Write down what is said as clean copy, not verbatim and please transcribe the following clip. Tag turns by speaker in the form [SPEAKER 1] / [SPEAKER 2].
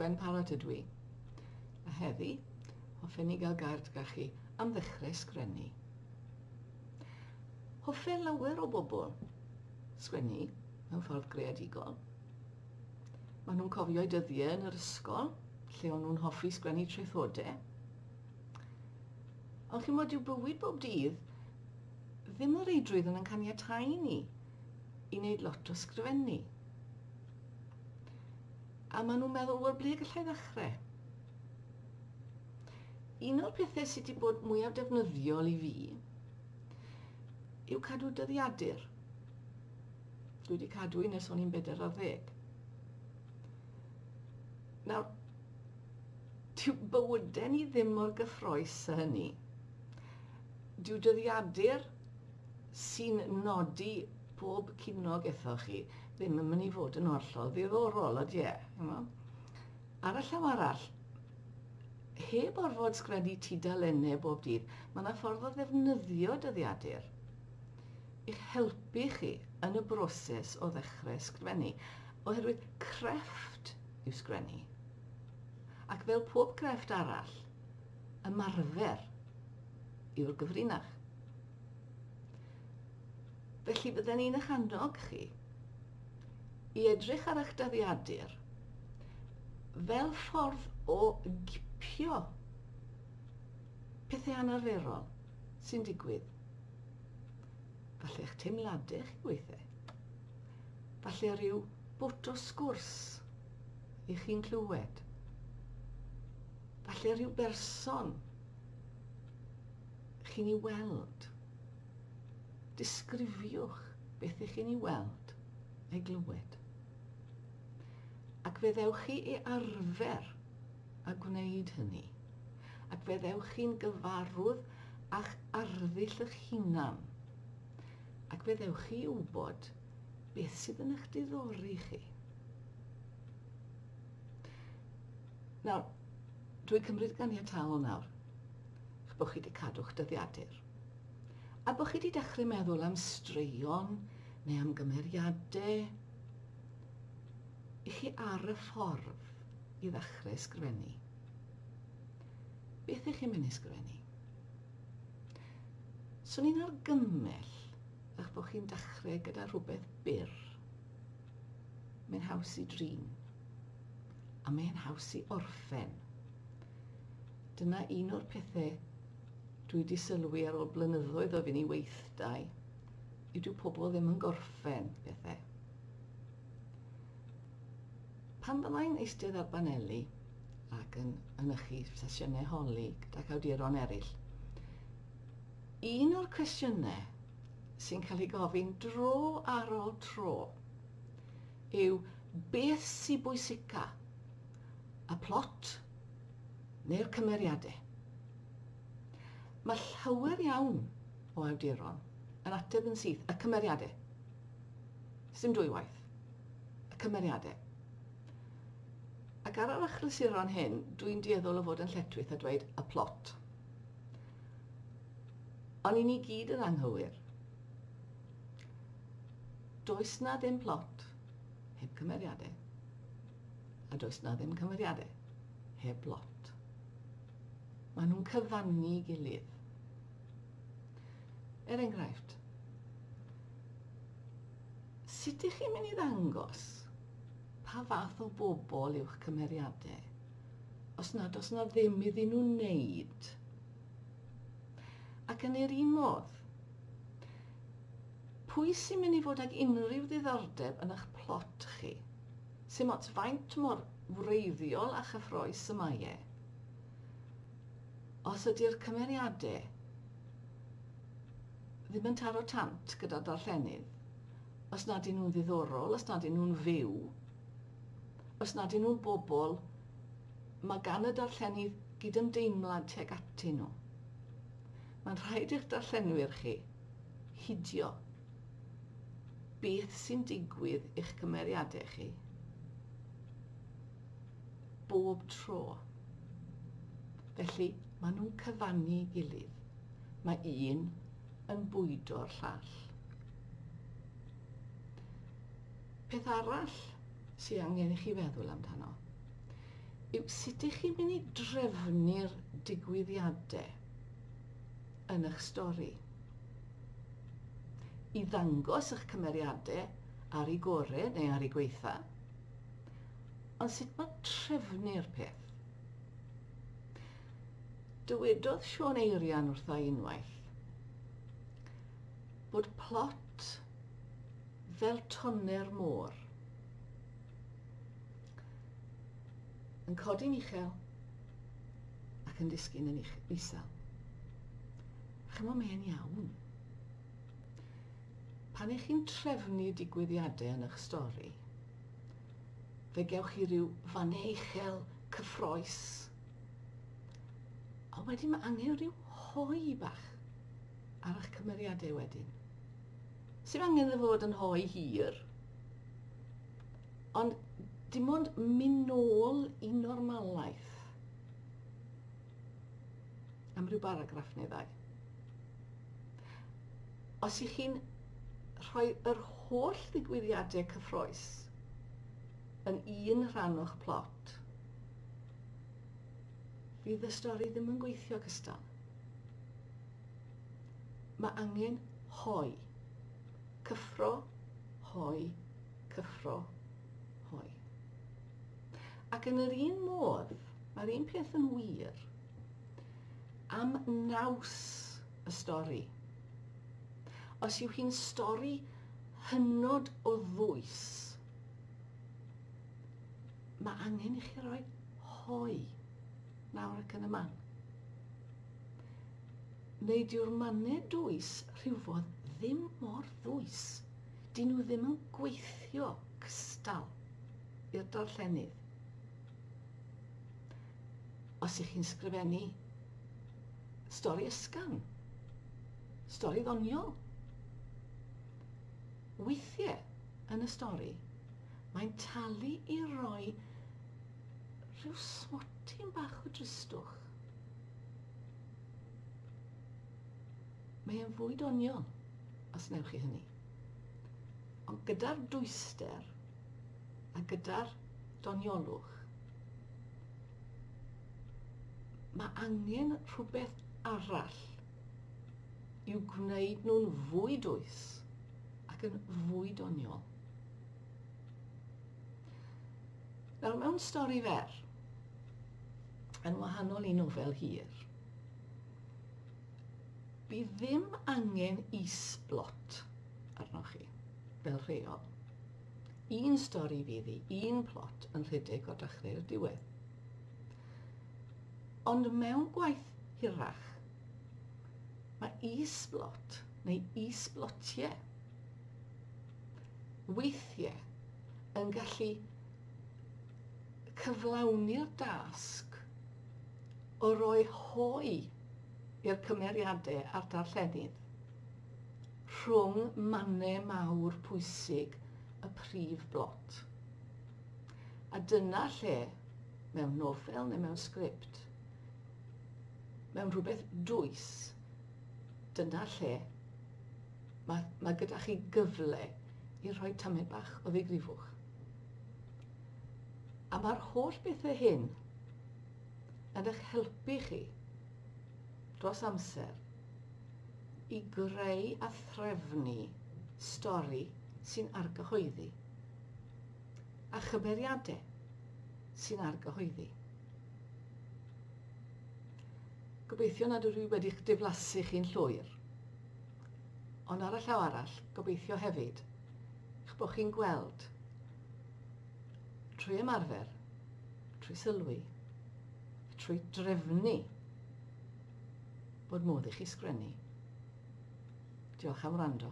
[SPEAKER 1] Gwen Parrott ydw i. A heddi, hoffen ni gael gair gyda chi am ddechrau sgrennu. Hoffe lawer o bobl sgwennu mewn ffordd greadigol. Maen nhw'n cofio'u dyddiau yn yr ysgol, lle o'n nhw'n hoffi sgwennu traethodau. Ond chi'n bod, dyw bywyd bob dydd ddim o reidrwydd yn caniatáu ni i wneud lot o sgrifennu. A maen nhw'n meddwl, wel, ble gallai ddechrau? Un o'r pethau sydd wedi bod mwyaf defnyddiol i fi yw cadw dyddiadur. Dwi wedi cadw un ers o'n i'n 40. Nawr, dyw bywydau ni ddim mor gyffroes â hynny. Dyw dyddiadur sy'n nodi pob cinog ethoch chi ddim yn mynd i fod yn hollol ddiddorol, ydy e? Ar y llaw arall, heb orfod sgrennu tudalennau bob dydd, mae yna ffordd o ddefnyddio dyddiadur i'ch helpu chi yn y broses o ddechrau sgrifennu, oherwydd crefft yw sgrennu. Ac fel pob crefft arall, ymarfer yw'r gyfrinach. Felly bydden ni'n eich annog chi i edrych ar eich dyddiadur fel ffordd o gipio pethau anarferol sy'n digwydd. Falle eich teimladau chi weithiau. Falle rhyw bwt o sgwrs i chi'n clywed. Falle rhyw berson chi'n ei weld. Disgrifiwch beth ych chi'n ei weld a'i glywed. Ac fe ddewch chi i arfer a gwneud hynny. Ac fe ddewch chi'n gyfarwydd â'ch arddull eich hunan. Ac fe ddewch chi i wybod beth sydd yn eich diddori chi. Nawr, dwi'n cymryd ganiataol nawr eich bod chi wedi cadw'ch dyddiadur. A bod chi wedi dechrau meddwl am straeon neu am gymeriadau i chi ar y ffordd i ddechrau ysgrifennu. Beth ych chi'n mynd i ysgrifennu? Swn i'n argymell eich bod chi'n dechrau gyda rhywbeth byr. Mae'n haws i drin. A mae'n haws i orffen. Dyna un o'r pethau dwi wedi sylwi ar ôl blynyddoedd o fynd i weithdai, yw dyw pobl ddim yn gorffen pethau. Pan fyddai'n eistedd ar baneli ac yn mynychu sesiynau holi gydag awduron eraill, un o'r cwestiynau sy'n cael ei gofyn dro ar ôl tro yw beth sy'n bwysica, y plot neu'r cymeriadau? Mae llawer iawn o awduron yn ateb yn syth, y cymeriadau. Sdim dwywaith. Y cymeriadau. Ac ar yr achlysuron hyn, dwi'n dueddol o fod yn lletchwith a dweud y plot. Ond i ni gyd yn anghywir. Does na ddim plot heb cymeriadau. A does na ddim cymeriadau heb blot. Maen nhw'n cyfannu gilydd. Er enghraifft, sut ych chi'n mynd i ddangos pa fath o bobl yw'ch cymeriadau os nad oes na ddim iddyn nhw wneud? Ac yn yr un modd, pwy sy'n mynd i fod ag unrhyw ddiddordeb yn eich plot chi? Sim ots faint mor wreiddiol a chyffrous y mae e. Os ydy'r cymeriadau ddim yn taro tant gyda darllenydd, os nad ydyn nhw'n ddiddorol, os nad ydyn nhw'n fyw, os nad ydyn nhw'n bobl, mae gan y darllenydd gydymdeimlad tuag atyn nhw. Mae'n rhaid i'ch darllenwyr chi hidio beth sy'n digwydd i'ch cymeriadau chi bob tro. Felly, maen nhw'n cyfannu gilydd. Mae un yn bwydo'r llall. Peth arall sydd angen i chi feddwl amdano yw sut ych chi'n mynd i drefnu'r digwyddiadau yn eich stori. I ddangos eich cymeriadau ar ei gorau neu ar ei gweitha, ond sut mae trefnu'r peth? Dywedodd Siôn Eirian wrtha i unwaith bod plot fel tonne'r môr yn codi'n uchel ac yn disgyn yn isel. Chymod, mae'n iawn. Pan ych chi'n trefnu digwyddiadau yn eich stori, fe gewch chi ryw fannau uchel, cyffroes. Ond wedyn mae angen rhyw hoe bach ar eich cymeriadau wedyn. Sy'n angen iddo fod yn hoe hir, ond dim ond mynd nôl i normalaeth am ryw baragraff neu ddau. Os ych chi'n rhoi yr holl ddigwyddiadau cyffroes yn un rhan o'ch plot, fydd y stori ddim yn gweithio cystal. Mae angen hoe. Cyffro, hoe, cyffro, hoe. Ac yn yr un modd, mae'r un peth yn wir am naws y stori. Os yw hi'n stori hynod o ddwys, mae angen i chi roi hoe nawr ac yn y man. Neu dyw'r mannau dwys rhywfodd ddim mor ddwys. Dyn nhw ddim yn gweithio cystal i'r darllenydd. Os ych chi'n sgrifennu stori ysgafn, stori ddoniol, weithiau yn y stori, mae'n talu i roi rhyw smotyn bach o dristwch. Mae e'n fwy doniol os wnewch chi hynny. Ond gyda'r dwyster a gyda'r doniolwch, mae angen rhywbeth arall i'w gwneud nhw'n fwy dwys ac yn fwy doniol. Nawr, mewn stori fer, yn wahanol i nofel hir, bydd ddim angen is-blot arnoch chi, fel rheol. Un stori fydd hi, un plot yn rhedeg o'r dechrau i'r diwedd. Ond mewn gwaith hirach, mae is-blot neu is-blotiau weithiau yn gallu cyflawni'r dasg o roi hoe i'r cymeriadau a'r darllenydd rhwng mannau mawr pwysig y prif blot. A dyna lle, mewn nofel neu mewn sgript, mewn rhywbeth dwys, dyna lle mae, mae gyda chi gyfle i rhoi tamed bach o ddigrifwch. A mae'r holl bethau hyn yn eich helpu chi dros amser i greu a threfnu stori sy'n argyhoeddi a chymeriadau sy'n argyhoeddi. Gobeithio nad ydw i wedi'ch diflasu chi'n llwyr. Ond ar y llaw arall, gobeithio hefyd eich bod chi'n gweld trwy ymarfer, trwy sylwi, trwy drefnu bod modd i chi sgrennu. Diolch am wrando.